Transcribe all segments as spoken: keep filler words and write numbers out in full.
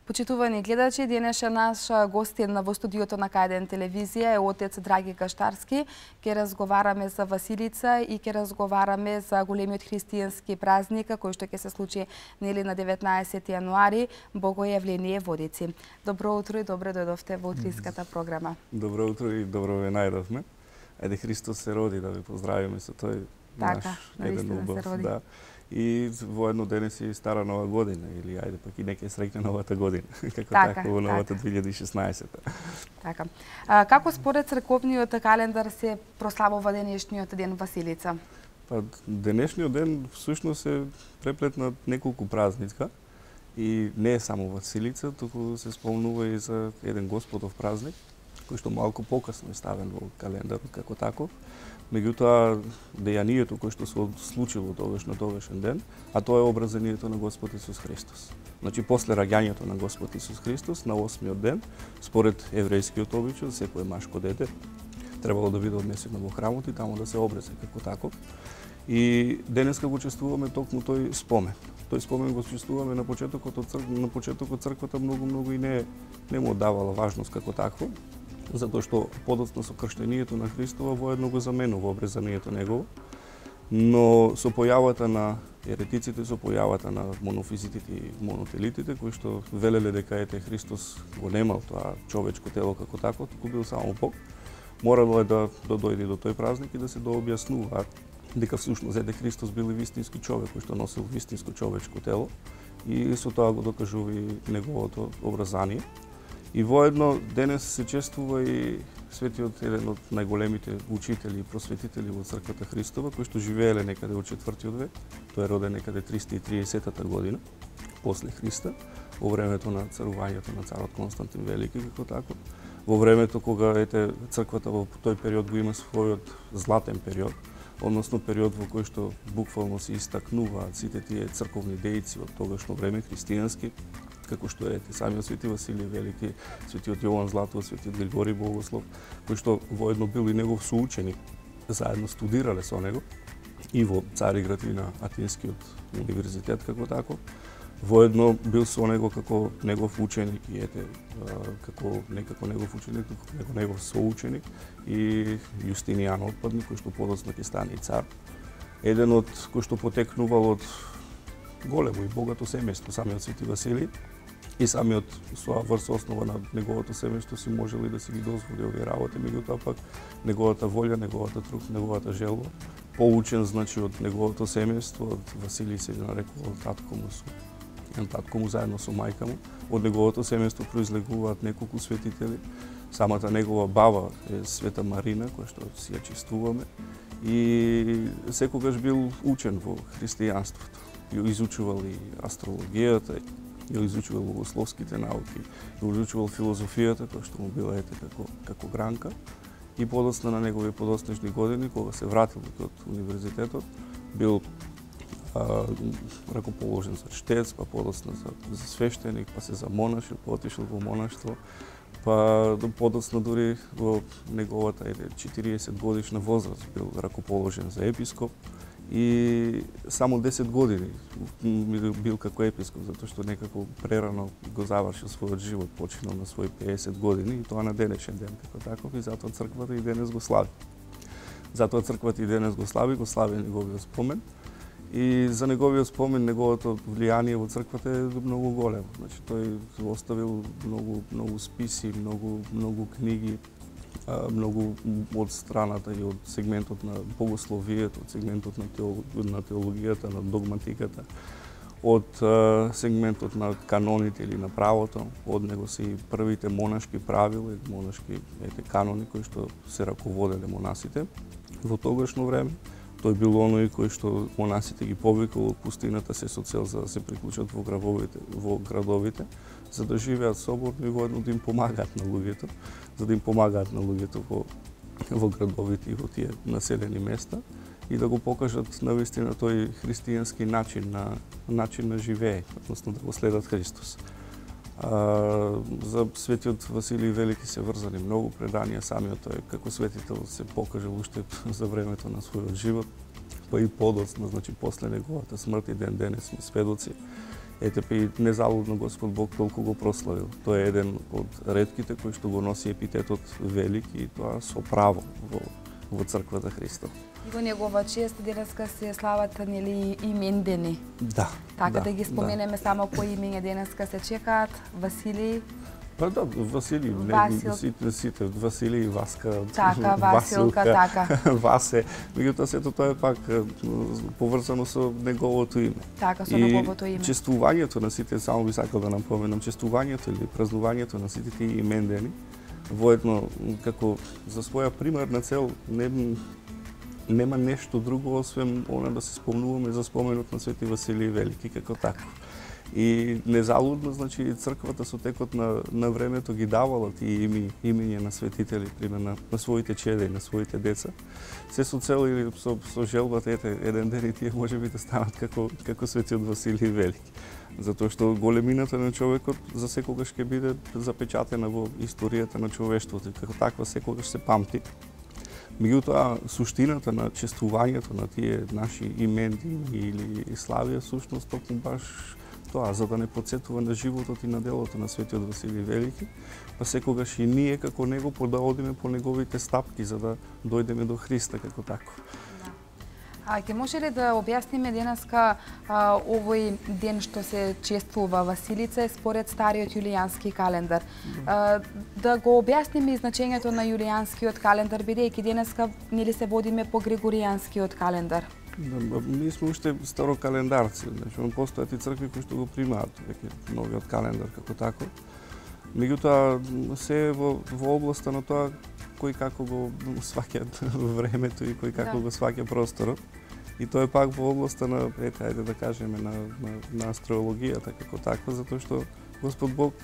Почитувани гледачи, денеша наш гостин во студиото на К еден телевизија е отец Драги Каштарски. Ке разговараме за Василица и ке разговараме за големиот христијански празник кој што ќе се случи нели на деветнаесети јануари, Богојавление Водици. Добро утро и добро дојдовте во утринската програма. Добро утро и добро ве најдовме. Ајде Христос се роди, да ви поздравиме со тој така, наш еден убав, да. И воедно денес е стара нова година, или ајде пак и нека среќна новата година, како така, така во новата две илјади и шеснаесета. Така. А, како според црковниот календар се прославува денешниот ден Василица? Па денешниот ден всушност е преплет на неколку празника и не е само Василица, туку се спомнува и за еден Господов празник, кој што малку покасно е ставен во календарот како таков. Меѓутоа, дејанието кој што се случило тогаш на тогашен ден, а тоа е образанието на Господ Исус Христос. Значи, после раѓањето на Господ Исус Христос, на осмиот ден, според еврејскиот обичај, секое машко дете требало да биде однесено во храмот и таму да се обрезе како таков. И денеска го чествуваме токму тој спомен. Тој спомен го чествуваме на почетокот од црквата, на почетокот црквата многу многу и не не му давала важност како такво, затоа што подоцна со крштенијето на Христова воедно го заменува обрезанието негово, но со појавата на еретиците, со појавата на монофизитите и монотелитите, кои што велеле дека ете Христос го немал тоа човечко тело како тако, туку бил само Бог, морало е да, да дојде до тој празник и да се дообјаснува дека всушност ете Христос бил и вистински човек кој што носил вистинско човечко тело и со тоа го докажува и неговото образание. И воедно денес се чествува и светиот еден од најголемите учители и просветители во црквата Христова, кој што живееле некаде во четвртиот век. Тој е роден некаде триста и триесетата година после Христа, во времето на царувањето на царот Константин Велики како тако. Во времето кога ете црквата во тој период го има својот златен период, односно период во кој што буквално се истакнуваат сите тие црковни дејци од тогашно време христијански, како што е самиот свети Василиј Велики, светиот Јован Златост, светиот Григорий Богослов, кој што воедно бил и негов соученик, заедно студирале со него и во Цариград и на Атинскиот универзитет како тако. Воедно бил со него како негов ученик и ете како некако негов ученик, како негов соученик и Јустинијан Отпадник, кој што подоцна ќе стане и цар. Еден од кој што потекнувал од големо и богато семејство, самиот свети Василий, и самиот со врз основа на неговото семејство си можели да си ги дозволи овие работи, меѓутоа пак неговата волја, неговата труд, неговата желба, поучен значи од неговото семејство, од Василий се нарекувал татко му со татко му заедно со мајка му. Од неговото семејство произлегуваат неколку светители. Самата негова баба е Света Марина, која што си ја чествуваме, и секогаш бил учен во христијанството. Ја изучувал и астрологијата, ја изучувал богословските науки, ја изучувал филозофијата, која што му била ете како, како гранка. И подоцна на негови подоцнежни години, кога се вратил од универзитетот, бил а, ракоположен за чтец, па подоцна за, за свештеник, па се за монашил, па отишел во монаштво, па подоцна дури во неговата еде четириесет годишна возраст бил ракоположен за епископ. И само десет години бил како епископ, затоа што некако прерано го завршил својот живот, починал на своји пеесет години и тоа на денешен ден како таков, и затоа црквата и денес го слави. Затоа црквата и денес го слави, го слави неговиот спомен. И за неговиот спомен, неговото влијание во црквата е многу големо. Значи тој оставил многу многу списи, многу многу книги, многу од страната и од сегментот на богословието, од сегментот на, теол, на теологијата, на догматиката, од сегментот на каноните или на правото. Од него се и првите монашки правила, монашки ете, канони кои што се раководеле монасите во тогашно време. Тој бил оној кој што монасите ги повикал од пустината се со цел за да се приклучат во градовите, во градовите, за да живеат соборно и воедно да им помагаат на луѓето, за да им помагаат на луѓето во, во градовите и во тие населени места и да го покажат навистина тој христијански начин на начин на живење, односно да го следат Христос. А, за светиот Василиј Велики се врзани многу преданија, самиот тој како светител се покажал уште за времето на својот живот, па и подоцна, значи после неговата смрт и ден денес сме сведоци. ете па и незалудно Господ Бог толку го прославил. Тој е еден од ретките кои што го носи епитетот велик и тоа со право во, во црквата Христов. И во негова чест денеска се слават нели имендени. Да. Така да, да ги споменеме да. Само кои имења денеска се чекаат: Василий, па да, Василий, Васил... сите, сите, Василий, Васка, така, Василка, така. Васе, меѓутоа сето тоа е пак поврзано со неговото име. Така, со неговото име. И честувањето на сите, само би сакал да напоменам, честувањето или празнувањето на сите тие имендени, воедно како за своја примарна цел не нема нешто друго освен она да се спомнуваме за споменот на Свети Василий Велики како таков. И незалудно, значи, црквата со текот на, на времето ги давала тие ими, имиња на светители, пример на, на своите чеда и на своите деца. Се со цел или со, со желбата, ете, еден ден и тие може би да станат како, како Светиот Василий Велики. Затоа што големината на човекот за секогаш ќе биде запечатена во историјата на човештвото и како таква секогаш се памти. Меѓутоа, суштината на честувањето на тие наши именди или славија, сушност, токму баш тоа, за да не подсетува на животот и на делото на Светиот Василий Велики, па секогаш и ние како него да одиме по неговите стапки за да дојдеме до Христа како таков. А ќе може ли да објасниме денеска а, овој ден што се чествува Василица според стариот јулијански календар? А, да го објасниме и значењето на јулијанскиот календар, бидејќи денеска нели се водиме по григоријанскиот календар? Да, ние сме уште старокалендарци, значи постојат и цркви кои што го примаат веќе новиот календар како таков. Меѓутоа се во, во областа на тоа кој како го сваќаат времето и кој како да. Го сваќа просторот. И тоа е пак во областа на, ете, ајде да кажеме, на, на, на астрологијата како таква, затоа што Господ Бог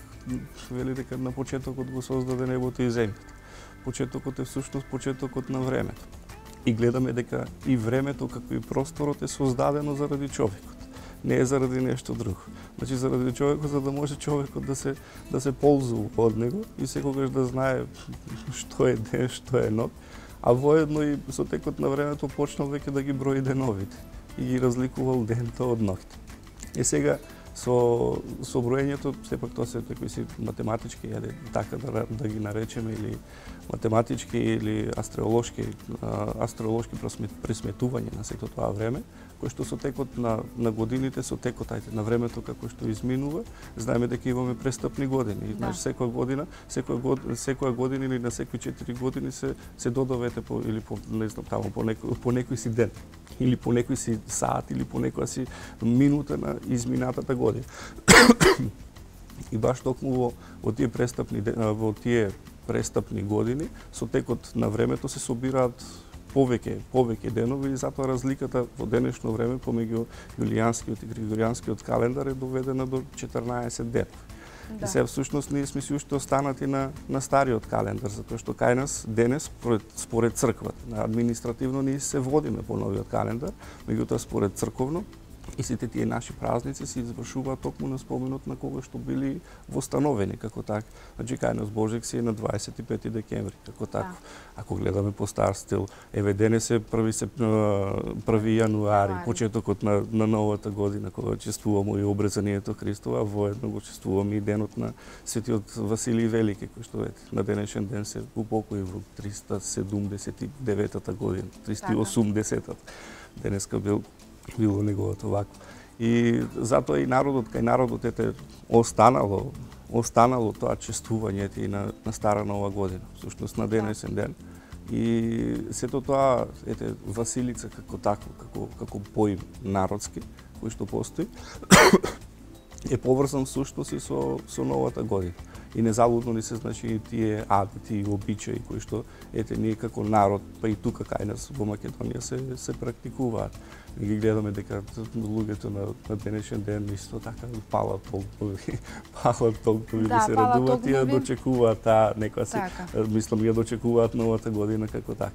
вели дека на почетокот го создаде небото и земјата. Почетокот е всушност почетокот на времето. И гледаме дека и времето како и просторот е создадено заради човекот. Не е заради нешто друго. Значи заради човекот, за да може човекот да се да се ползува од него и секогаш да знае што е ден, што е ног, а воедно и со текот на времето почнал веќе да ги брои деновите и ги разликувал дento од ноќта. И сега со со броењето сепак тоа се такви си математички, ајде така да да ги наречеме, или математички или астролошки астролошки пресметување на сето тоа време, кој што со текот на на годините, со текот ајде на времето како што изминува, знаеме дека имаме престапни години. Да. Значи секоја година, секоја година, секоја година или на секои четири години се се додавате по или по не знам таму по некој по некој си ден или по некој си саат или по некоја си минута на изминатата година. И баш токму во, во тие престапни во тие престапни години, со текот на времето се собираат повеќе повеќе денови и затоа разликата во денешно време помеѓу јулијанскиот и григоријанскиот календар е доведена до четрнаесет денови. Да. И се всушност ние сме си уште останати на на стариот календар, затоа што кај нас денес според според црквата, административно ние се водиме по новиот календар, меѓутоа според црковно и сите тие наши празници се извршуваат токму на споменот на кога што били востановени како така. Значи кај нас Божек си е на дваесет и пети декември како така. Да. Ако гледаме по стар стил, еве денес е први се први јануари, почетокот на на новата година кога чествуваме и обрезанието Христово, а воедно го чествуваме и денот на Светиот Василий Велики, кој што ете на денешен ден се упокои во триста седумдесет и деветата година, триста и осумдесета. Денеска бил било неговото вако. И затоа и народот, кај народот ете останало, останало тоа чествување и на, на Стара Нова година, всушност на денесен ден. И сето тоа, ете, Василица како такво, како, како поим народски, кој што постои, е поврзан всушност и со, со новата година. И незалудно ни се значи тие адити и обичаи кои што ете ние како народ, па и тука кај нас во Македонија се се практикуваат. И ги гледаме дека луѓето на, на денешен ден исто така палат толкови, палат толкови да, да се радуваат и ја дочекуваат таа некоја се, така. Мислам ја дочекуваат новата година како така.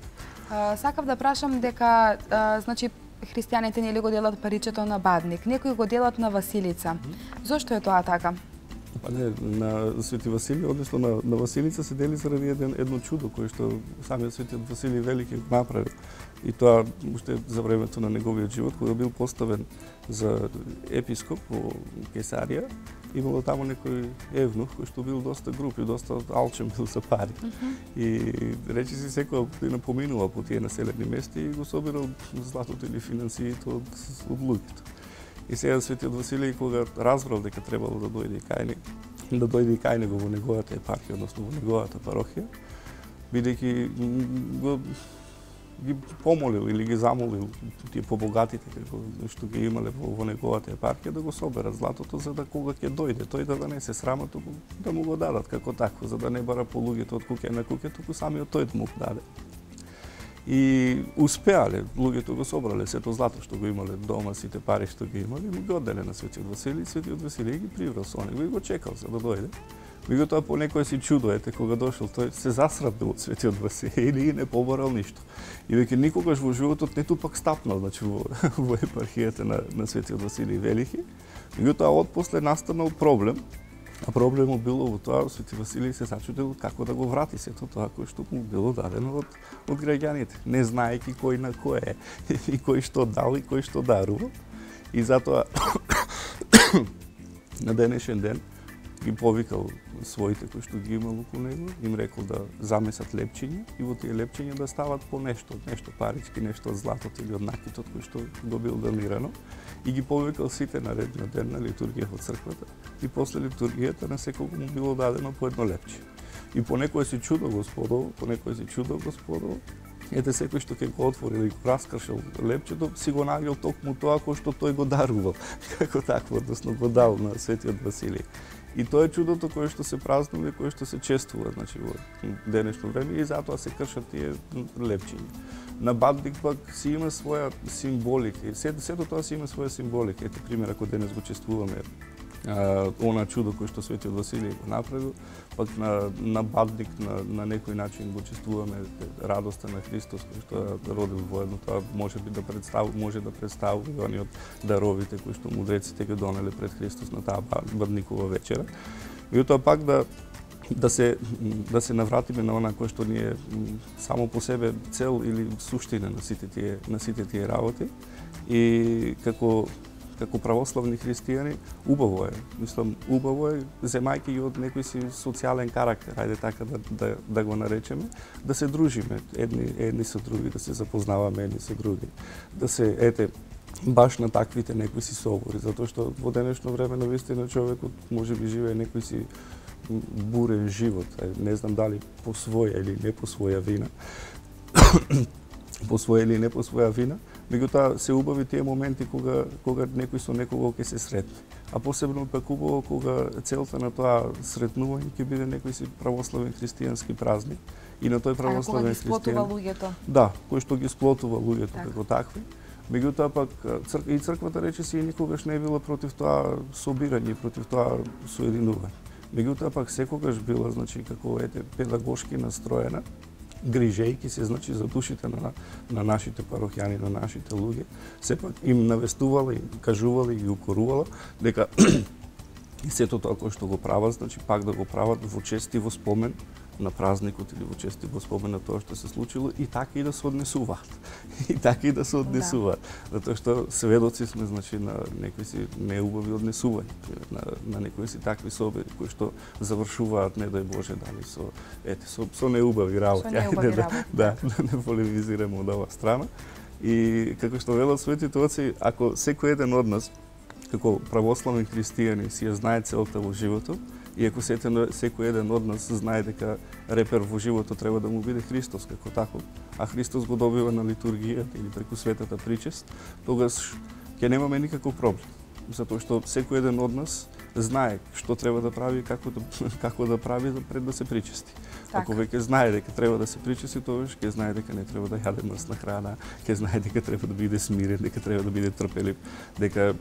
А, сакав да прашам дека а, значи христијаните нели го делат паричето на Бадник, некои го делат на Василица. Зошто е тоа така? Па не, на Свети Василий, односно на, на Василица се дели заради еден, едно чудо кое што самиот Светиот Василий Велики го направил. И тоа уште за времето на неговиот живот, кога бил поставен за епископ во Кесарија, имало таму некој евнух кој што бил доста груб и доста алчен бил за пари. Mm -hmm. И речи си секој напоминува по тие населени места и го собирал златото или финансиите од, од луѓето. И сега Светиот Василий, кога разбрал дека требало да дојде кај него, да дојде и кај него во неговата епархија, односно во неговата парохија, бидејќи го ги помолил или ги замолил тие побогатите како што ги имале во, во неговата епархија да го соберат златото, за да кога ќе дојде тој да не се срама, туку да му го дадат како такво, за да не бара по луѓето од куќе на куќе, туку самиот тој да му го даде. И успеале, луѓето го собрале сето злато што го имале дома, сите пари што ги имале, му ги одделе на Светиот Василий, Светиот Василий ги приврал со него и го чекал за да дојде. Меѓутоа по некој си чудо, ете, кога дошол, тој се засрабил од Светиот Василий и не побарал ништо. И веќе никогаш во животот не тупак стапнал, значи во, во епархијата на, на Светиот Василий Велики. Меѓутоа отпосле настанал проблем, а проблемот било во тоа, Свети Василий се зачудил како да го врати сето тоа кој што му било дадено од, од граѓаните, не знаејќи кој на кој е, и кој што дал и кој што дарува. И затоа на денешен ден ги повикал своите кои што ги имал околу него, им рекол да замесат лепчиња и во тие лепчиња да стават по нешто, нешто парички, нешто од златото или од накитот кој што го бил донирано, и ги повикал сите на ред на ден на литургија во црквата, и после литургијата на секој му било дадено по едно лепче. И по некој си чудо Господово, по некој си чудо Господово, ете секој што ќе го отворил и го раскршил лепчето, си го најдел токму тоа кој што тој го дарувал, како такво, односно го дал на Светиот Василий. И тоа е чудото кое што се празнува и кое што се чествува, значи во денешно време, и затоа се кршат тие лепчиња. На Бадник пак си има своја символика, и сето, сето тоа си има своја символика. Ете пример, ако денес го чествуваме а, она чудо кое што Светиот Василий го направил, пак на, на Бадник на, на некој начин го чествуваме радоста на Христос кој што е родил воедно, тоа може би да представува, може да представува и они од даровите кои што мудреците ги донеле пред Христос на таа Бадникова вечера. И тоа пак да да се да се навратиме на она кое што ни е само по себе цел или суштина на сите тие на сите тие работи, и како како православни христијани, убаво е. Мислам, убаво е, земајќи ги од некој си социјален карактер, ајде така да, да, да го наречеме, да се дружиме едни, едни со други, да се запознаваме едни со други, да се, ете, баш на таквите некои си собори, затоа што во денешно време навистина човекот може би живее некој си бурен живот, не знам дали по своја или не по своја вина, по своја или не по своја вина, меѓутоа се убави тие моменти кога кога некој со некого ќе се сретне. А посебно пак убаво кога целта на тоа сретнување ќе биде некој си православен христијански празник. И на тој православен христијан луѓето. Да, кој што ги сплотува луѓето так. Како такви. Меѓутоа пак црк... и црквата речиси никогаш не е била против тоа собирање, против тоа соединување. Меѓутоа пак секогаш била, значи, како ете педагошки настроена, грижејќи се, значи, за душите на, на нашите парохјани, на нашите луѓе, сепак им навестувала, им кажувала и ги укорувала дека и сето тоа кој што го прават, значи, пак да го прават во чест и во спомен на празникот или во чест и во спомен на тоа што се случило, и така и да се однесуваат. И така и да се однесуваат. Да. Затоа што сведоци сме, значи, на некои си неубави однесувања, на, на некои си такви собери кои што завршуваат, не дај Боже, дали со ете со, со неубави работи. Со неубави да, работи. Да, да не полемизираме од оваа страна. И како што велат светите оци, ако секој еден од нас како православни христијани си ја знае целта во животот, и ако секој еден од нас знае дека репер во животот треба да му биде Христос како таков, а Христос го добива на литургијата или преку светата причест, тогаш ќе немаме никаков проблем. Затоа што секој еден од нас знае што треба да прави и како да, како да прави пред да се причести. Так. Ако веќе знае дека треба да се причести, тогаш ќе знае дека не треба да јаде мрсна храна, ќе знае дека треба да биде смирен, дека треба да биде трпелив, дека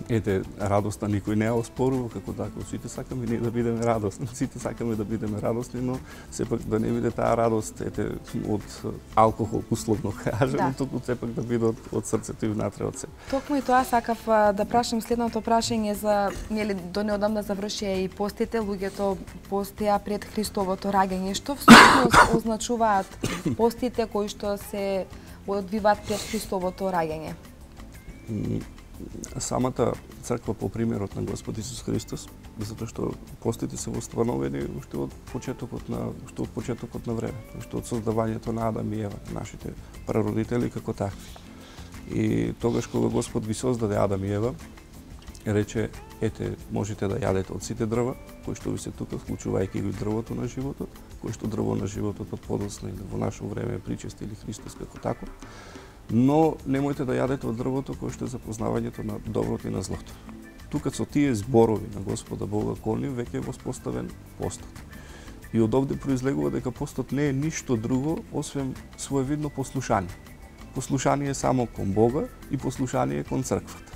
ете, радоста никој не ја оспорува како така. Сите сакаме ние да бидеме радосни, сите сакаме да бидеме радосни, но сепак да не биде таа радост ете од алкохол, условно кажано, да. Туку сепак да биде од, од срцето и внатре од себе. Токму и тоа сакав да прашам следното прашање за нели до неодамна завршија и постите, луѓето постија пред Христовото раѓање. Што всушност означуваат постите кои што се одвиваат пред Христовото раѓање? Самата црква по примерот на Господ Исус Христос, затоа што постите се востановени уште од почетокот на уште од почетокот на време, уште од создавањето на Адам и Ева, нашите прародители како такви. И тогаш кога Господ ги создаде Адам и Ева, рече: ете, можете да јадете од сите дрва кои што ви се тука, вклучувајќи го дрвото на животот, кој што дрво на животот од подоцна или во наше време причести или Христос како таков. Но немојте да јадете од дрвото кој што е за познавањето на доброто и на злото. Тука со тие зборови на Господа Бога кон нив веќе е воспоставен постот. И од овде произлегува дека постот не е ништо друго освен своевидно послушание. Послушание само кон Бога и послушание кон црквата.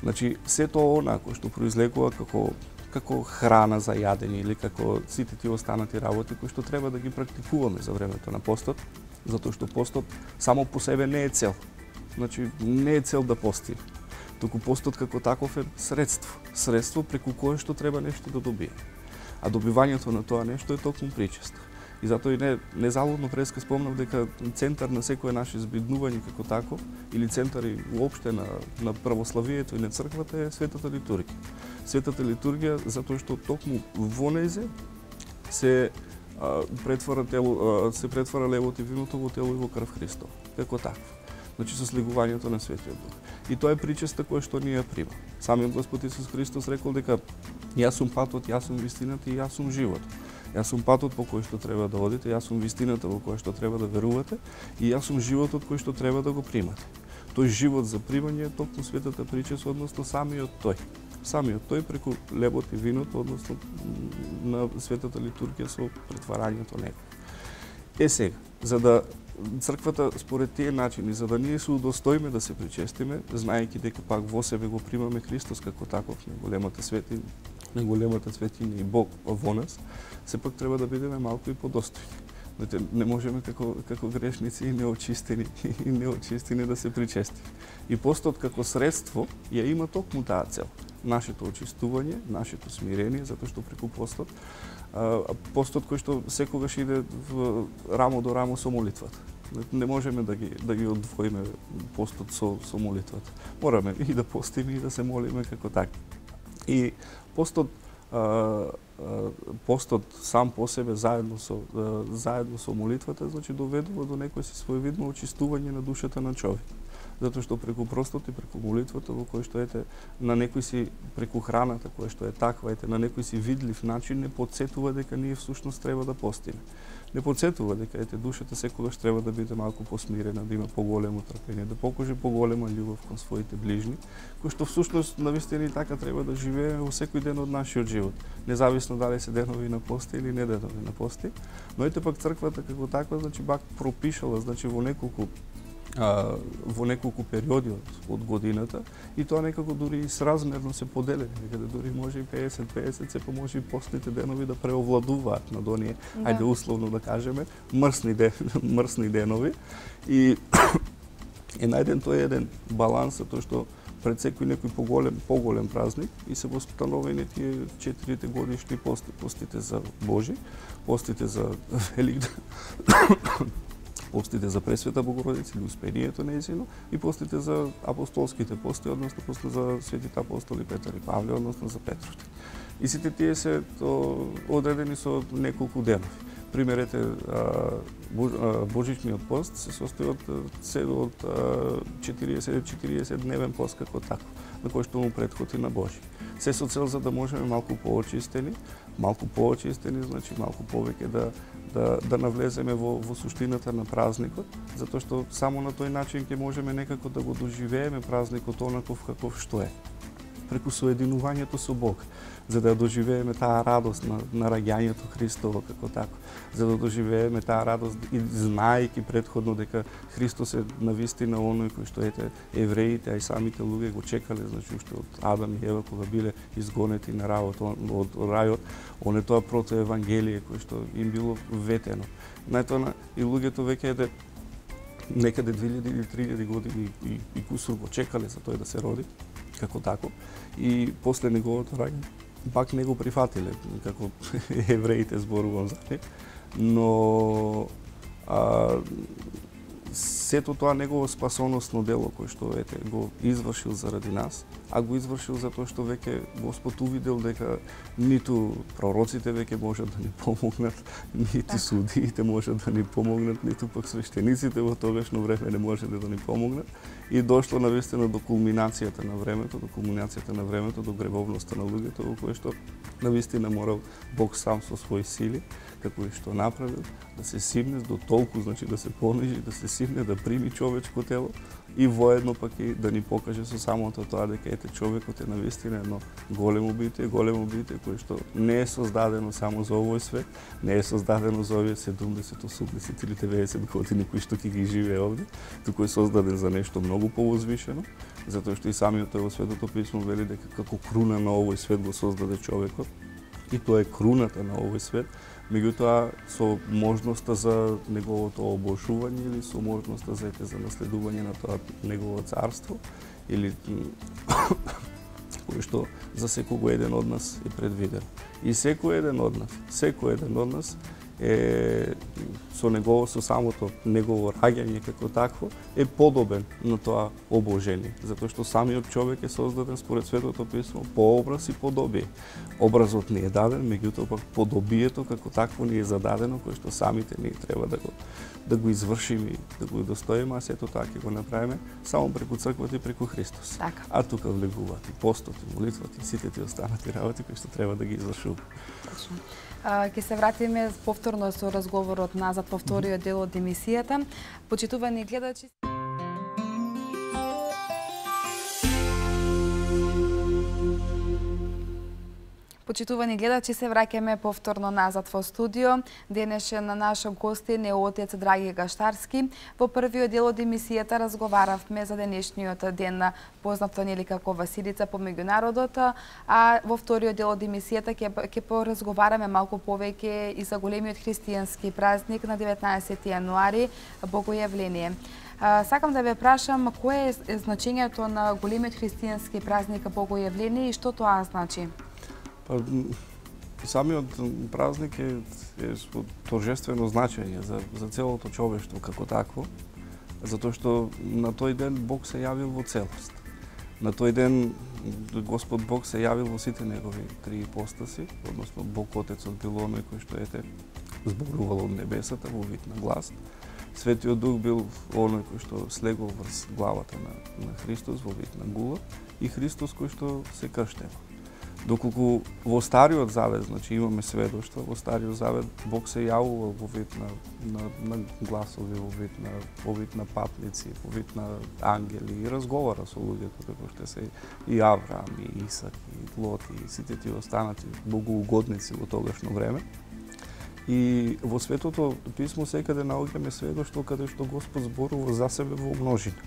Значи, сето она кој што произлегува како како храна за јадење или како сите тие останати работи кои што треба да ги практикуваме за времето на постот, затоа што постот само по себе не е цел. Значи, не е цел да постиме. Туку постот како таков е средство. Средство преку кое што треба нешто да добие. А добивањето на тоа нешто е токму причест. И затоа и не, незалудно преска спомнав дека центар на секое наше збиднување како тако, или центари уопште на, на православието и на црквата е Светата литургија. Светата литургија затоа што токму во незе се претвара тело, се претвара левото и виното во тело и во крв Христов, како такво. Значи со слегувањето на Светиот Дух. И тоа е причеста која што ние прима. Самиот Господ Исус Христос рекол дека јас сум патот, јас сум вистината и јас сум животот. Јас сум патот по кој што треба да одите, јас сум вистината во која што треба да верувате и јас сум животот кој што треба да го примате. Тој живот за примање е токму светата причест, односно самиот тој. Самиот тој преку лебот и виното, односно на Светата литургија со претварањето него. Е сега, за да црквата според тие начини, за да ние се удостоиме да се причестиме, знаејќи дека пак во себе го примаме Христос како таков, на големата светиња, на големата светиња и Бог во нас, сепак треба да бидеме малку и подостојни. Не можеме како, како грешници и неочистени, и неочистени да се причестиме. И постот како средство ја има токму таа цел. Нашето очистување, нашето смирение, затоа што преку постот, постот кој што секогаш иде в рамо до рамо со молитвата. Не можеме да ги да ги одвоиме постот со со молитвата. Мораме и да постиме и да се молиме како така. И постот постот сам по себе заедно со заедно со молитвата, значи доведува до некој си своевидно очистување на душата на човек. Затоа што преку простот и преку молитвата во кој што ете на некој си преку храната која што е таква, ете на некој си видлив начин не потсетува дека ние всушност треба да постиме. Не потсетува дека ете душата секогаш треба да биде малку посмирена, да има поголемо трпење, да покаже поголема љубов кон своите ближни, кој што всушност навистина и така треба да живееме во секој ден од нашиот живот, независно дали се денови на пости или не денови на пости. Но ете пак црквата како таква, значи пак пропишала, значи во неколку А, во неколку периоди од, од годината и тоа некако дури и сразмерно се поделени, некаде дури може и песет песет, се може и постните денови да преовладуваат над оние, да. Ајде условно да кажеме, мрсни, ден, мрсни денови и е најден тој еден баланс, тоа што пред секој некој поголем, поголем празник и се востановени тие четирите годишни пости, постите за Божи, постите за Великден, постите за Пресвета Богородица или Успението нејзино и постите за апостолските пости, односно постите за светите апостоли Петар и Павле, односно за Петровите. И сите тие се то, одредени со неколку денови. Примерете, Божичниот пост се состои од, од четириесет дневен пост како таков, на кој што му претходи на Божи. Се со цел за да можеме малку поочистени, малку поочистени, значи малку повеќе да да да навлеземе во во суштината на празникот, затоа што само на тој начин ќе можеме некако да го доживееме празникот онаков каков што е. преку соединувањето со Бог, за да доживееме таа радост на, на раѓањето Христово како тако, за да доживееме таа радост и знаејќи предходно дека Христос е навистина оној кој што ете евреите, а и самите луѓе го чекале, значи уште од Адам и Ева кога биле изгонети на рајот, од рајот, оне тоа прото евангелие кој што им било ветено. Најтоа и луѓето веќе ете некаде две илјади или три илјади години и, и кусур го чекале за тој да се роди, како тако, и после неговото раѓање пак не го прифатиле, како евреите зборувам за нив, но а, сето тоа негово спасоносно дело кој што ете го извршил заради нас, а го извршил затоа што веќе Господ увидел дека ниту пророците веќе можат да ни помогнат, ниту судиите можат да ни помогнат, ниту пак свештениците во тогашно време не можеле да ни помогнат, и дошло навистина до кулминацијата на времето, до кулминацијата на времето, до гревовноста на луѓето, во кое што навистина морал Бог сам со своји сили, како и што направил, да се симне до толку, значи да се понижи, да се симне, да прими човечко тело и воедно пак и да ни покаже со самото тоа дека ете човекот е навистина едно големо битие, големо битие кое што не е создадено само за овој свет, не е создадено за овие седумдесет, осумдесет или деветдесет години кои што ќе ги живее овде, туку е создаден за нешто многу повозвишено, затоа што и самиот во Светото писмо вели дека како круна на овој свет го создаде човекот, и тоа е круната на овој свет, меѓутоа со можноста за неговото обошување или со можноста за ете за наследување на тоа негово царство, или кој што за секој еден од нас е предвиден. И секој еден од нас, секој еден од нас е со негово, со самото негово раѓање како такво, е подобен на тоа обожение, затоа што самиот човек е создаден според Светото писмо по образ и подобие. Образот ни е даден, меѓутоа пак подобието како такво ни е зададено, кое што самите ние треба да го да го извршиме и да го достоиме, а сето тоа ќе го направиме само преку црквата и преку Христос. Така. А тука влегуваат и постот, и молитвата, и сите тие останати работи кои што треба да ги извршуваме. Точно. Ќе се вратиме повторно со разговорот назад во вториот дел од емисијата. Почитувани гледачи, Почитувани гледачи, се враќаме повторно назад во студио. Денешен на наш гостин е отец Драги Гаштарски. Во првиот дел од емисијата разговаравме за денешниот ден, познато нели како Василица по меѓународот, а во вториот дел од емисијата ќе ќе поразговараме малку повеќе и за големиот христијански празник на деветнаесети јануари, Богојавление. Сакам да ве прашам кое е значењето на големиот христијански празник Богојавление и што тоа значи? Па, самиот празник е, е од торжествено значење за, за целото човештво како такво, затоа што на тој ден Бог се јавил во целост. На тој ден Господ Бог се јавил во сите негови три ипостаси, односно Бог Отецот бил оној кој што ете зборувал од небесата во вид на глас. Светиот Дух бил оној кој што слегол врз главата на, на Христос во вид на гула и Христос кој што се крштева. Доколку во Стариот Завет, значи имаме сведоштва, во Стариот Завет Бог се јавувал во вид на, на, на гласови, во вид на, во вид на патници, во вид на ангели и разговара со луѓето, како што се и Авраам, и Исак, и Лот, и сите тие останати богоугодници во тогашно време. И во Светото писмо секаде наоѓаме сведоштво каде што Господ зборува за себе во множина.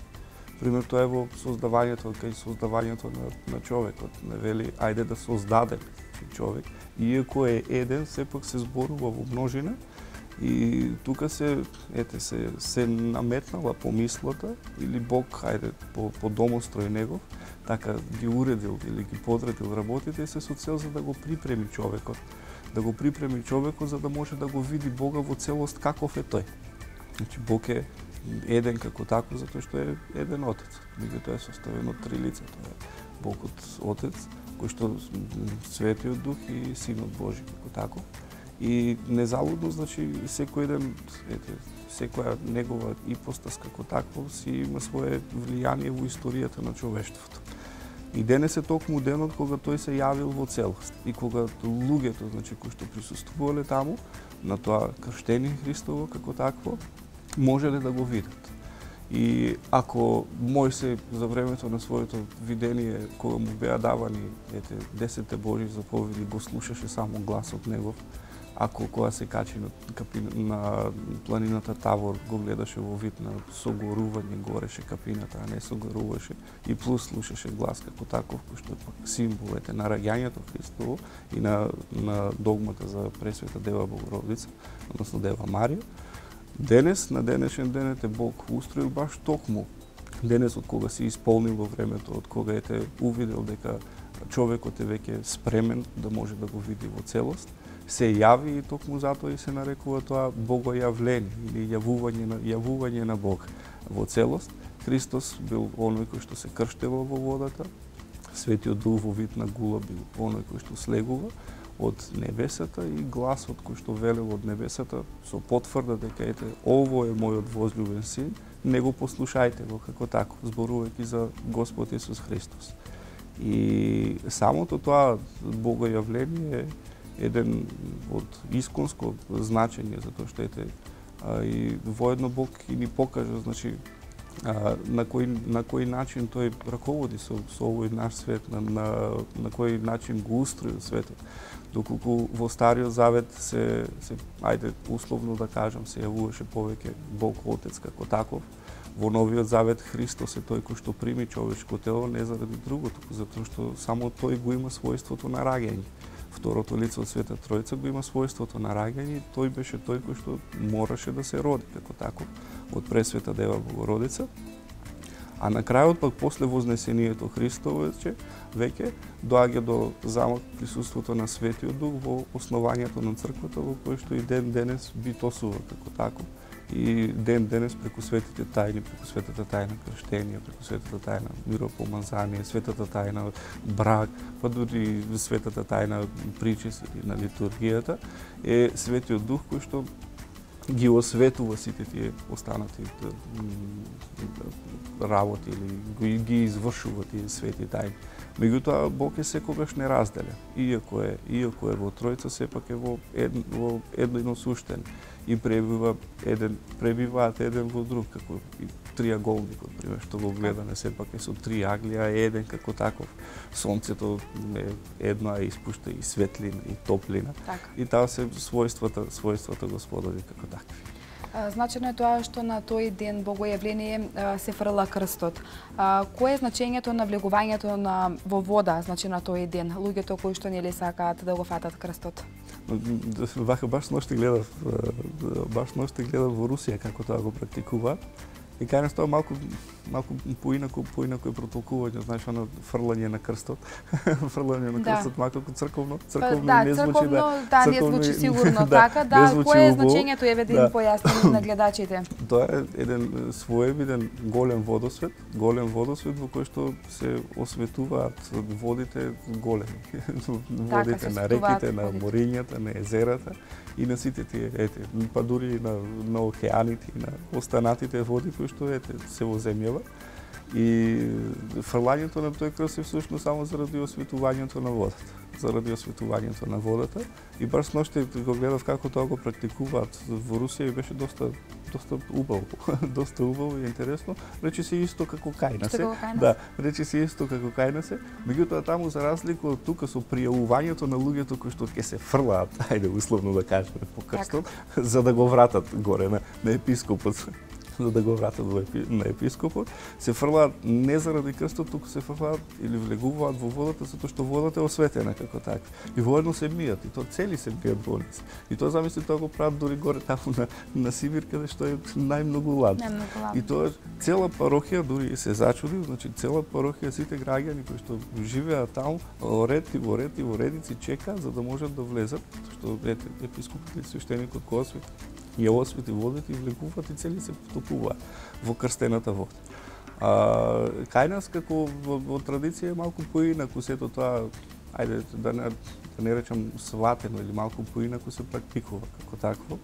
Пример, тоа е во создавањето, кај создавањето на, на човекот. Не вели, ајде да создадеме човек. Иако е еден, сепак се зборува во множина и тука се, ете, се, се наметнала помислата или Бог, ајде, по, по домострој негов, така ги уредил или ги подредил работите се со цел за да го припреми човекот. Да го припреми човекот за да може да го види Бога во целост каков е тој. Значи, Бог е еден како тако, затоа што е еден Отец. Меѓутоа е составен од три лица. Тоа е Богот Отец, кој што Светиот Дух и Синот Божи како тако. И незалудно, значи, секој еден, ете, секоја негова ипостас како такво си има свое влијание во историјата на човештвото. И денес е токму денот кога тој се јавил во целост и кога луѓето, значи, кои што присуствувале таму на тоа крштение Христово како такво, можеле да го видат. И ако Мојсей за времето на своето видение, кога му беа давани ете десетте Божји заповеди, го слушаше само гласот негов, ако кога се качи на, капина, на планината Тавор, го гледаше во вид на согорување, гореше капината, а не согоруваше, и плюс слушаше глас како таков, кој што е пак символ ете на раѓањето Христово и на, на догмата за Пресвета Дева Богородица, односно Дева Марија. Денес, на денешен ден, ете Бог устроил баш токму денес, од кога се исполнил во времето, од кога ете увидел дека човекот е веќе спремен да може да го види во целост, се јави и токму затоа и се нарекува тоа богојавление или јавување на јавување на Бог во целост. Христос бил оној кој што се крштевал во водата, Светиот Дух во вид на гула бил оној кој што слегува од небесата и гласот кој што велел од небесата со потврда дека ете ово е мојот возљубен син, не го послушајте го како тако, зборувајќи за Господ Исус Христос. И самото тоа богојавление е еден од исконско значење, затоа што ете а, и воедно Бог и ни покажа, значи, а, на кој на кој начин тој раководи со, со овој наш свет, на, на, на кој начин го устроил светот. Доколку во Стариот Завет се, се ајде условно да кажам, се јавуваше повеќе Бог Отец како таков, во Новиот Завет Христос е тој кој што прими човечко тело не заради друго, туку затоа што само тој го има својството на раѓање. Второто лице од Света Тројца го има својството на раѓање и тој беше тој кој што мораше да се роди како таков од Пресвета Дева Богородица. А на крајот пак после вознесението Христово веќе веќе доаѓа до замок присуството на Светиот Дух во основањето на црквата, во кој што и ден денес битосува како тако. И ден денес преку светите тајни, преку светата тајна крштение, преку светата тајна миропомазание, светата тајна брак, па дури светата тајна причест на литургијата, е Светиот Дух кој што ги осветува сите тие останати работи или ги извршува тие свети тајни. Меѓутоа Бог е секогаш неразделен. Иако е, иако е во Тројца, сепак е во едно, во едно суштен и пребива еден, пребиваат еден во друг, како и триаголникот, пример, што го гледаме, сепак е со три агли, а еден како таков. Сонцето е едно, а испушта и светлина, и топлина. Так. И таа се својствата, својствата Господови како такви. Значено е тоа што на тој ден богојавление се фрла крстот. Кое е значењето на влегувањето на во вода, значи на тој ден, луѓето кои што нели сакаат да го фатат крстот? Вака баш ноште гледав, баш ноште гледав во Русија како тоа го практикуваат. И кај нас тоа малку малку поинаку поинаку е протолкување, знаеш, оно фрлање на крстот. Фрлање на крстот да. Малку црковно, црковно да, не звучи црковно, да. Да, црковно, не звучи сигурно да, така, да. Кое е значењето еве да им да. појасни на гледачите? Тоа е еден своевиден голем водосвет, голем водосвет во кој што се осветуваат водите големи. Водите така, на реките, на морињата, на езерата и на сите тие, ете, па дури на, на океаните и на останатите води кои што ете се во земјава. И фрлањето на тој крст е всушност само заради осветувањето на водата. Заради осветувањето на водата. И баш ноште го гледав како тоа го практикуваат во Русија и беше доста доста убаво, доста убаво и интересно. Рече се исто како кај нас. Да, рече се исто како кај нас. Меѓутоа таму за разлика од тука со пријавувањето на луѓето кои што ќе се фрлаат, ајде условно да кажеме по крстот, за да го вратат горе на, на епископот. За да го вратат во епи, на епископот, се фрлаат не заради крстот, туку се фрлаат или влегуваат во водата затоа што водата е осветена како така. И воедно се мијат, и тоа цели се мијат во нас. И тоа замисли тоа го прават дури горе таму на на Сибир каде што е најмногу ладно. И тоа цела парохија дури се зачуди, значи цела парохија сите граѓани кои што живеат таму, во ред и во ред и во редици чекаат за да можат да влезат, што ете епископот и свештеникот кој освети ја освети водите и влегуваат и цели се потопуваат во крстената вода. А, кај нас како во, во традиција е малку поинаку сето тоа, ајде да не, да не речам сватено или малку поинаку се практикува како такво.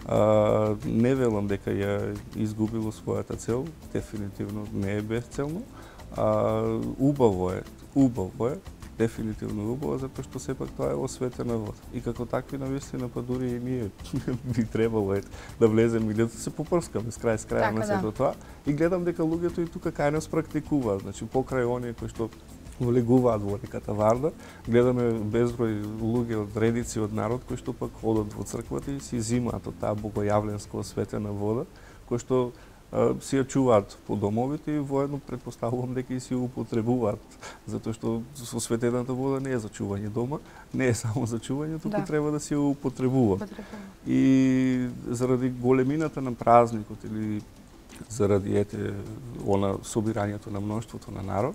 А, не велам дека ја изгубило својата цел, дефинитивно не е безцелно. А, убаво е, убаво е, дефинитивно убава, затоа што сепак тоа е осветена вода. И како такви навистина па дури и ние би требало е, да влеземе и да се попрскаме с крај с крај на сето тоа. И гледам дека луѓето и тука кај нас практикуваат, значи покрај оние кои што влегуваат во реката Вардар, гледаме безброј луѓе од редици од народ кои што пак одат во црквата и си зимаат од таа богојавленска осветена вода, кои што си ја чуваат по домовите и воедно претпоставувам дека и си ја употребуваат, затоа што осветената вода не е за чување дома, не е само за чување, туку да. Треба да си ја употребува. И заради големината на празникот или заради ете она собирањето на мноштвото на народ,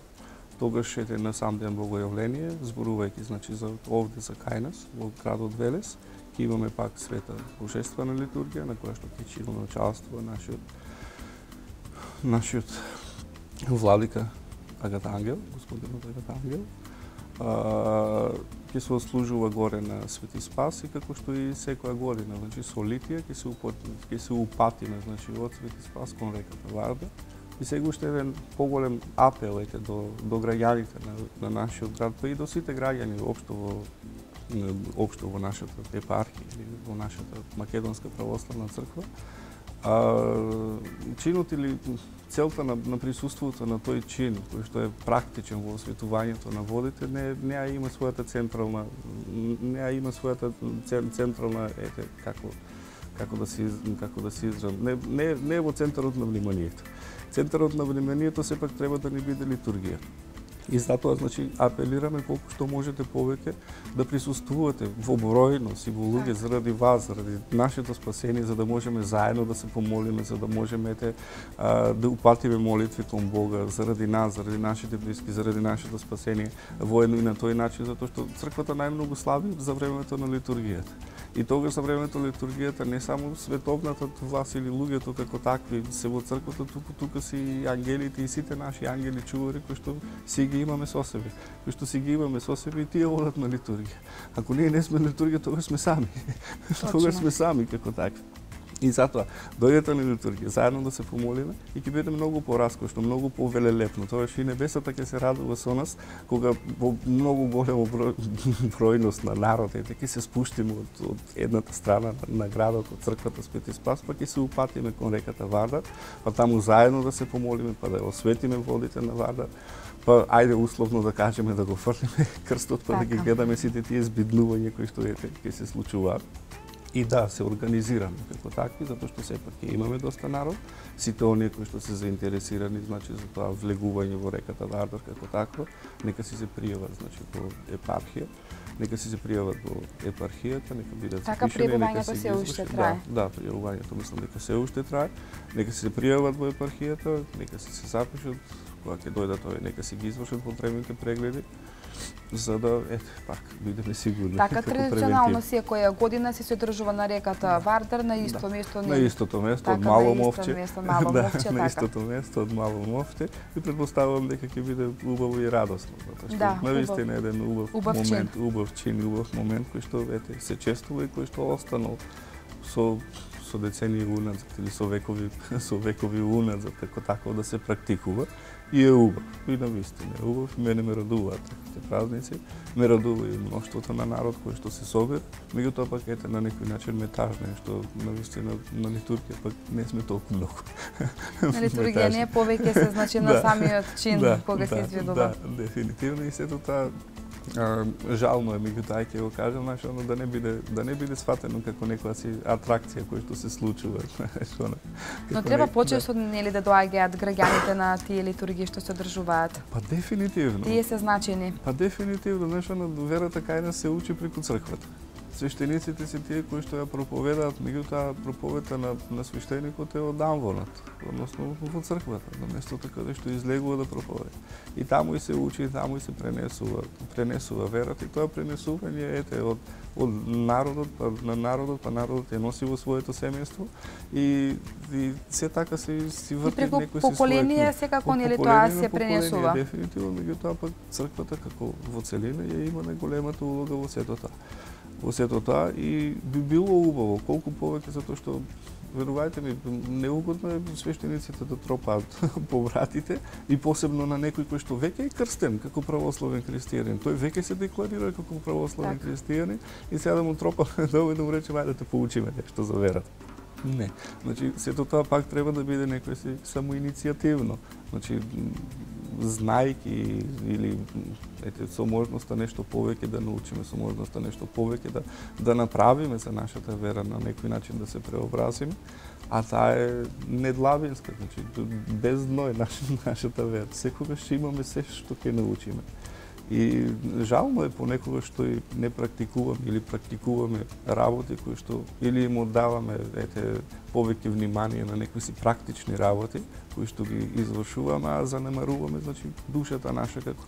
тогаш ете на сам ден богојавление, зборувајќи значи за овде за кај нас во градот Велес, ќе имаме пак света божествена литургија на која што ќе имаме учество нашиот нашиот владика Агат Ангел, господинот Агат Ангел, ќе се ослужува горе на Свети Спас и како што и секоја година, значи со литија ќе се ќе се упатиме значи од Свети Спас кон реката Вардар. И сега уште еден поголем апел ете до до граѓаните на, на нашиот град, па и до сите граѓани општо во општо во нашата епархија или во нашата македонска православна црква. А, чинот или целта на, на присуството на тој чин, кој што е практичен во осветувањето на водите, не не ја има својата централна не ја има својата централна ете како како да се како да се изразам, не не не е во центарот на вниманието. Центарот на вниманието сепак треба да ни биде литургија. И затоа, значи, апелираме колку што можете повеќе да присуствувате во бројност и во луѓе заради вас, заради нашето спасение, за да можеме заедно да се помолиме, за да можеме те, а, да упатиме молитви кон Бога, заради нас, заради нашите блиски, заради нашето спасение, воедно и на тој начин, затоа што црквата најмногу слави за времето на литургијата. И тогаш за времето на литургијата не само световната власт или луѓето како такви се во црквата, туку тука си и ангелите и сите наши ангели чувари кои што си ги имаме со себе. Кои што си ги имаме со себе и тие одат на литургија. Ако ние не сме на литургија, тогаш сме сами. Тогаш сме сами како такви. И затоа, дојдете на литургија, заедно да се помолиме и ќе биде многу пораскошно, многу повелелепно. Тоа и небесата ќе се радува со нас, кога во многу големо број, бројност на народ, ете, ќе се спуштиме од, од едната страна на градот, од црквата Свети Спас, па ќе се упатиме кон реката Вардар, па таму заедно да се помолиме, па да осветиме водите на Вардар, па ајде условно да кажеме да го фрлиме крстот, па да ги гледаме сите тие збиднувања кои што ете ќе се случуваат. И да, се организираме како такви, затоа што сепак ќе имаме доста народ, сите оние кои што се заинтересирани, значи за тоа влегување во реката Вардар како таква, нека си се пријават, значи во епархија, нека си се пријават во епархијата, нека бидат така пријавувањето се уште трае. Да, да, пријавувањето мислам дека се уште трае. Нека си се пријават во епархијата, нека си се запишат, кога ќе дојдат овие, нека си ги извршат потребните прегледи, за да, ете, пак, бидеме сигурни. Така, традиционално секоја година се одржува на реката Вардар, на исто место. На истото место, од Мало Мовче. Мало Мовче, на истото место, од Мало Мовче. И предпоставувам дека ќе биде убаво и радосно, затоа што да, навистина е еден убав, убав момент, чин. убав чин, убав момент кој што, ете, се чествува и кој што останал со со децении уназад или со векови со векови уназад, како тако да се практикува. И е убав, и навистина е убав, мене ме радуваат таквите празници, ме радува и мноштвото на народ кој што се собира, меѓутоа пак ете на некој начин ме тажне, што навистина на литургија пак не сме толку многу. На литургија не е повеќе се значи на самиот чин да, кога да, се изведува. Да, дефинитивно и сето тоа А, жално е, меѓутоа ќе го кажам, значи, да не биде да не биде сватено како некоја си атракција која што се случува, значи, она. Но треба почесто да. Нели да доаѓаат граѓаните на тие литургии што се одржуваат. Па дефинитивно. Тие се значени. Па дефинитивно, значи, верата кај нас се учи преку црквата. Свештениците се тие кои што ја проповедаат, меѓутоа проповедта на, на свештеникот е од амвонот, односно во црквата, на местото каде што излегува да проповеда. И таму и се учи, и таму и се пренесува, пренесува верата, и тоа пренесување ете од од народот, па на народот, па народот ја носи во своето семејство и, и се така се си врти некој се поколение секако нели тоа се пренесува. Дефинитивно, меѓутоа пак црквата како во целина ја има најголемата улога во сето тоа. Во сето тоа и би било убаво колку повеќе затоа што верувајте ми, неугодно е свештениците да тропаат по вратите и посебно на некој кој што веќе е крстен како православен христијанин. Тој веќе се декларира како православен так. христијанин и сега да му тропа долу и да му рече ајде да те поучиме нешто за верата. Не. Значи, сето тоа пак треба да биде некој си самоиницијативно. Значи, знајки или ете, со можноста нешто повеќе да научиме, со можноста нешто повеќе да, да направиме за нашата вера на некој начин да се преобразиме, а таа е недлабинска, значи, без дно е наш, нашата вера. Секогаш имаме се што ќе научиме. И жално е понекогаш што и не практикуваме или практикуваме работи кои што или им оддаваме ете повеќе внимание на некои си практични работи кои што ги извршуваме, а занемаруваме значи душата наша како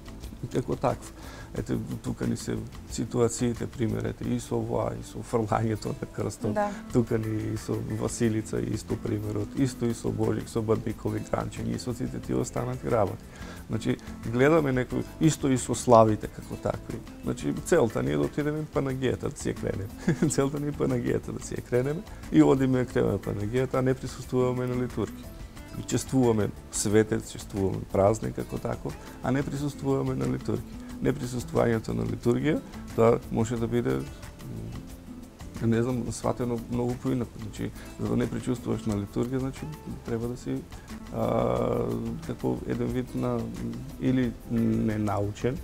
како таква. Ете тука ни се ситуациите примерете и со ова и со фрлањето на крстот. Да. Тука ни и со Василица исто примерот, исто и со Божик, со Бадникови гранчења и со сите тие останати работи. Значи, гледаме некој, исто и со славите како такви. Значи, целта ни е да отидеме Панагијата да си ја кренеме. Целта ни е Панагијата да си ја кренеме и одиме ја кренеме Панагијата, а не присуствуваме на литургија. И чествуваме светец, чествуваме празник како таков, а не присуствуваме на литургија. Неприсуствувањето на литургија, тоа може да биде не знам, сватено многу поинаку. Значи, за да не причувствуваш на литургија, значи треба да си а, како еден вид на или ненаучен,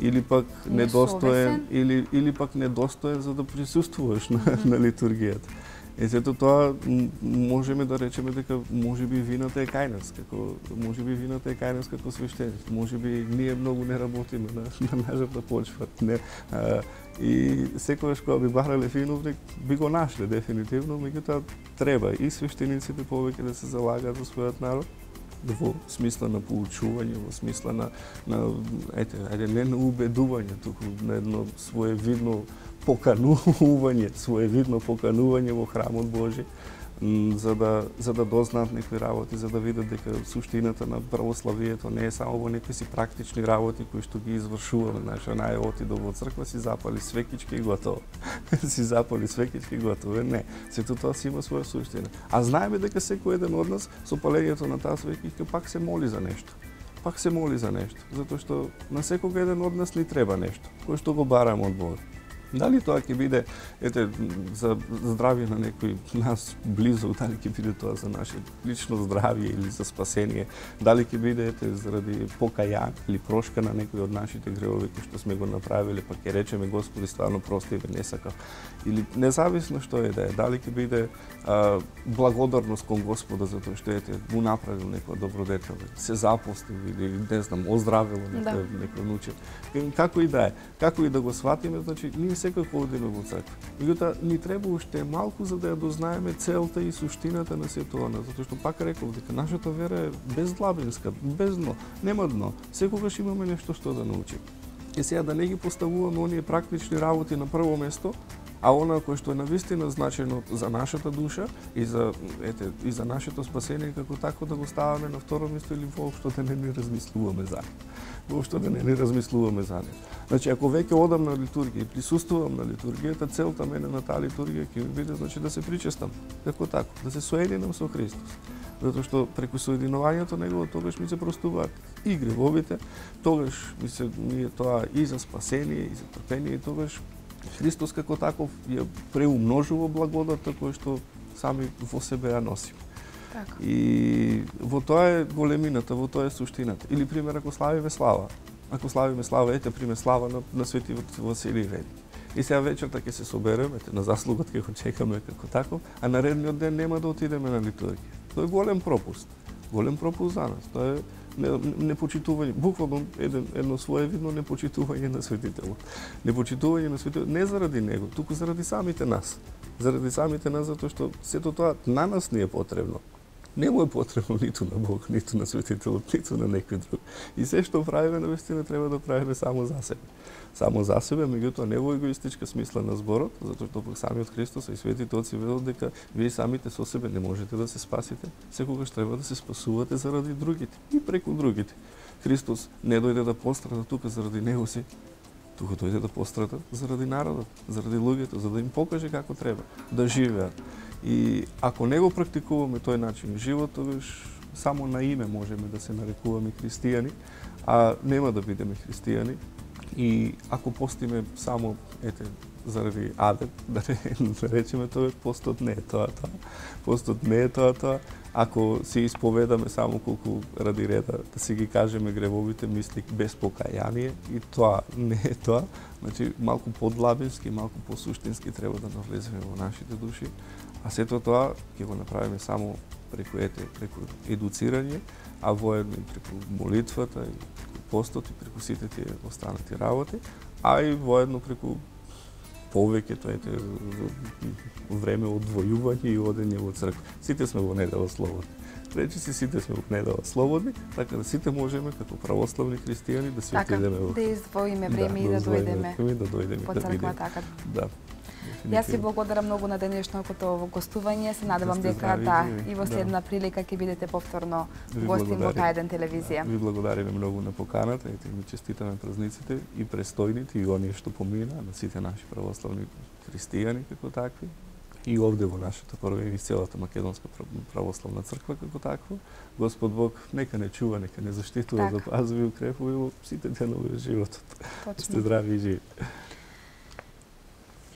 или пак недостоен, или или пак недостоен за да присуствуваш на, mm-hmm. на литургијата. Е, сето тоа можеме да речеме дека можеби вината е кај нас, како можеби вината е кај нас како свештеници. Можеби ние многу не работиме на, на нашата почва. Не, а, и секогаш кога би барале виновник, би го нашле дефинитивно, меѓутоа треба и свештениците повеќе да се залагаат за својот народ, во смисла на поучување, во смисла на, на ете, ајде не на убедување, туку на едно своевидно поканување, своевидно поканување во храмот Божи, за да за да дознаат некои работи, за да видат дека суштината на православието не е само во некои си практични работи кои што ги извршуваме. Знаеш, нај отидо во црква, си запали свекички и готово. си запали свекички и готово. Не, сето тоа си има своја суштина. А знаеме дека секој еден од нас со палењето на таа свекичка пак се моли за нешто. Пак се моли за нешто, затоа што на секој еден од нас ни треба нешто, кој што го бараме од Бога. Дали тоа ќе биде ете за здравје на некој нас близо, дали ќе биде тоа за наше лично здравје или за спасение, дали ќе биде ете заради покајање или прошка на некој од нашите гревови кои што сме го направиле, па ќе речеме Господи стварно прости ме, не сакав. Или независно што е да е, дали ќе биде а, благодарност кон Господа за тоа што ете му направил некоја добродетел, се запостил или не знам, оздравило некој да. некој внуче. Како и да е, како и да го сватиме, значи ние секако одиме во црква. Меѓутоа ни треба уште малку за да ја дознаеме целта и суштината на сето она, затоа што пак реков дека нашата вера е бездлабинска, без дно, нема дно. Секогаш имаме нешто што да научиме. И сега да не ги поставуваме оние практични работи на прво место, а она кој што е навистина значајно за нашата душа и за ете и за нашето спасение како тако да го ставаме на второ место или воопшто да не ни размислуваме за него. Воопшто да не ни размислуваме за него. Значи ако веќе одам на литургија и присуствувам на литургијата, целта мене на таа литургија ќе биде значи да се причестам како тако, да се соединам со Христос. Затоа што преку соединувањето негово тогаш ми се простуваат и гревовите, тогаш ми се ми е тоа и за спасение и за трпение, и тогаш Христос како таков ја преумножува благодата која што сами во себе ја носиме. Така. И во тоа е големината, во тоа е суштината. Или пример ако славиме слава. Ако славиме слава, ете пример слава на, на свети Василий Велики. И сега вечерта ќе се собереме, ете на заслугот ќе го чекаме како таков, а наредниот ден нема да отидеме на литургија. Тоа е голем пропуст. Голем пропуст за нас. Тоа е непочитување, буквално еден, едно своевидно непочитување на светителот. Непочитување на светителот не заради него, туку заради самите нас. Заради самите нас, затоа што сето тоа на нас не е потребно. Не му е потребно ниту на Бог, ниту на светителот, ниту на некој друг. И се што правиме, навистина треба да правиме само за себе. Само за себе, меѓутоа не во егоистичка смисла на зборот, затоа што пак самиот Христос и светите отци велат дека вие самите со себе не можете да се спасите, секогаш треба да се спасувате заради другите и преку другите. Христос не дојде да пострада тука заради него си, тука дојде да пострада заради народот, заради луѓето, за да им покаже како треба да живеат. И ако не го практикуваме тој начин живот, тогаш само на име можеме да се нарекуваме христијани, а нема да бидеме христијани. И ако постиме само, ете, заради адет, да не речеме тоа, постот не е тоа тоа. Постот не е тоа тоа. Ако си исповедаме само колку ради реда, да си ги кажеме гревовите мисли без покаяние, и тоа не е тоа. Значи, малку подлабински, малку посуштински треба да навлеземе во нашите души. А сето тоа ќе го направиме само преку ете, преку едуцирање, а воедно и преку молитвата, и преку постот, и преку сите тие останати работи, а и воедно преку повеќето ете време одвојување и одење во црква. Сите сме во недела слободни. Речи си, сите сме во недела слободни, така да сите можеме како православни христијани да си така, отидеме во... да издвоиме време да, и да дојдеме да дојдеме по црква, така. Да. Јас ви благодарам многу на денешното гостување. Се надевам дека да, и во следна да. прилика ќе бидете повторно гостин во К еден телевизија. Ви благодариме многу на поканата, ете ми честитаме празниците и престојните и оние што помина на сите наши православни христијани како такви. И овде во нашата прва и целата македонска православна црква како таква. Господ Бог нека не чува, нека не заштитува, запазува и укрепува сите денови од животот. Точно. Сте здрави и живи.